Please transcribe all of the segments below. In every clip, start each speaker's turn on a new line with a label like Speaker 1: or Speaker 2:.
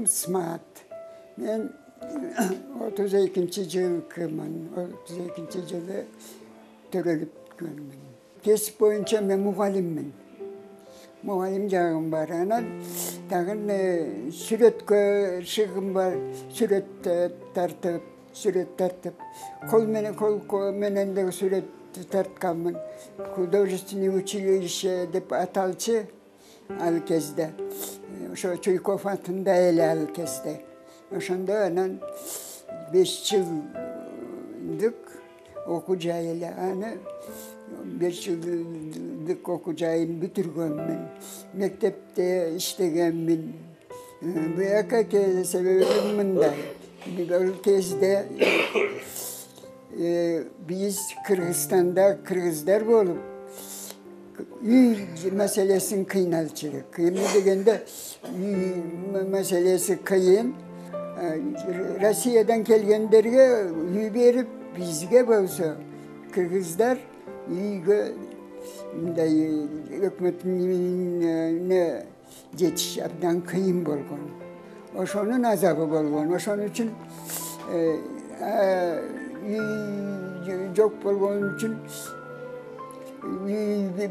Speaker 1: Смат. Мен 32-жылкымын. 32-жылы төрөлүпкөнмүн. Кесип боюнча мен мугалиммин. Мугалим жагым бар. Анан тагын сүрөткө шыгым бар. Сүрөт тартып, кол менен да сүрөт тартканмын. Художественное училище деп аталчы ал кезде. Ошо Чуйков атында эле ал кезде. Ошондо анан 5 жылдык окуу жай эле. Аны 5 жылдык окуу жайын бүтүргөнмүн. Мектепте иштегенмин. Буяка себеби мындай. Бул кезде биз Кыргызстанда кыргыздар болуп үй маселесин кыйналчылык. Эмне дегенде үй маселеси кыйын. Россиядан келгендерге үй берип, бизге болсо кыргыздар үйгө мындай өкмөттүн жетиш абдан кыйын болгон. Ошонун азабы болгон. Ошон үчүн үй жок болгон үчүн үй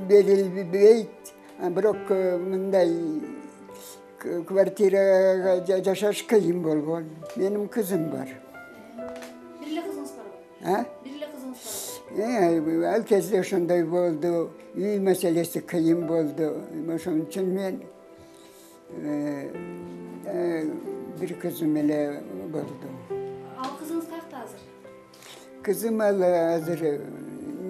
Speaker 1: берилбейт. Бирок мындай квартирага жашаш кыйын болгон. Менин кызым бар.
Speaker 2: Бир эле кызыңыз барбы? Бир эле кызыңыз барбы?
Speaker 1: Ал кезде ошондой болду. Үй маселеси кыйын болду. Ошон үчүн мен бир кызым эле болду.
Speaker 2: Ал кызыңыз каякта азыр?
Speaker 1: Кызым азыр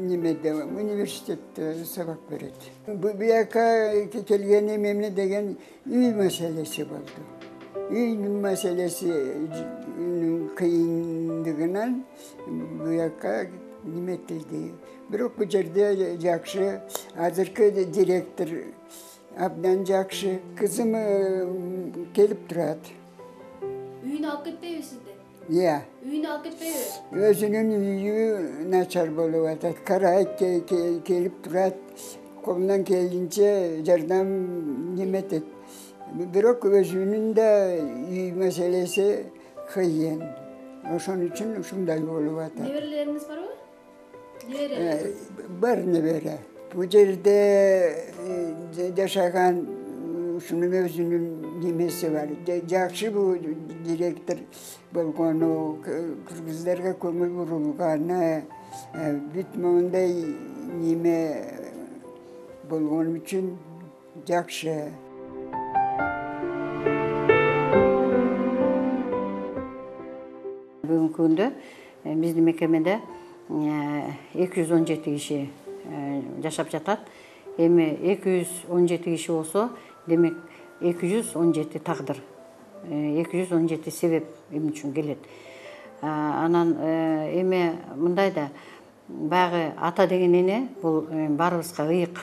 Speaker 1: немеде, университетте сабак берет. Буяка келгеним эмне деген үй маселеси болду. Үй маселесинин кыйындыгынан буяка неметилди. Бирок бул жерде жакшы, азыркы директор абдан жакшы. Кызым келип турат.
Speaker 2: Үйүнө алып кетпейби сизди?
Speaker 1: Үйүнө
Speaker 2: алып кетпейби?
Speaker 1: Өзүнүн үйү начар болуп атат. Карайт, келип турат. Колунан келгенче жардам неметет. Бирок өзүнүн да үй маселеси кыйын. Ошон үчүн ушундай болуп атат.
Speaker 2: Неберелериңиз барбы? Небере?
Speaker 1: Бар небере. Бул жерде жашаган ушунун өзүнүн немеси бар. Жакшы бул директор болгону, кыргыздарга көңүл бурулганы, бүт моундай неме болгон үчүн жакшы.
Speaker 3: Бүгүнкү күндө биздин мекемеде 217 киши жашап жатат. Эми 217 киши болсо, демек 217 тагдыр, 217 себеп эмне үчүн келет. Анан эми мындай да, баягы ата деген эне бул баарыбызга ыйык.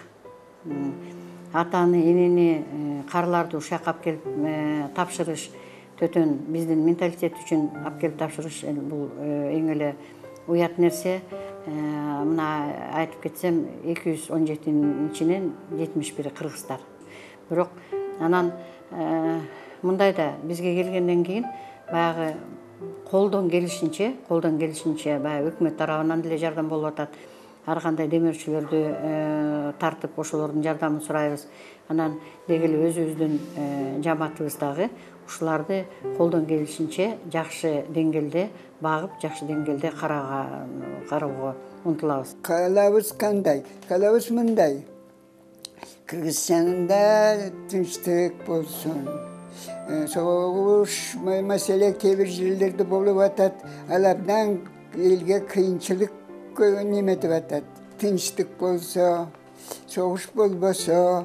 Speaker 3: Атаны, энени, карыларды ушакка алып келип тапшырыш, төтөн биздин менталитет үчүн алып келип тапшырыш бул эң эле уят нерсе. Мына айтып кетсем, 217-нин ичинен 71-и кыргыздар. Бирок анан мындай да, бизге келгенден кийин баягы колдон келишинче баягы өкмөт тарабынан деле жардам болуп атат. Ар кандай демөөрчүлөрдү тартып, ошолордун жардамын сурайбыз. Анан деги эле өзүбүздүн жамаатыбыз дагы ушуларды колдон келишинче жакшы деңгээлде багып, жакшы деңгээлде кароого умтулабыз.
Speaker 1: Каалабыз кандай? Каалабыз мындай. Кыргызстанда тынчтык болсун. Согуш маселе кээ бир жерлерде болуп атат. Ал абдан элге кыйынчылык неметип атат. Тынчтык болсо, согуш болбосо,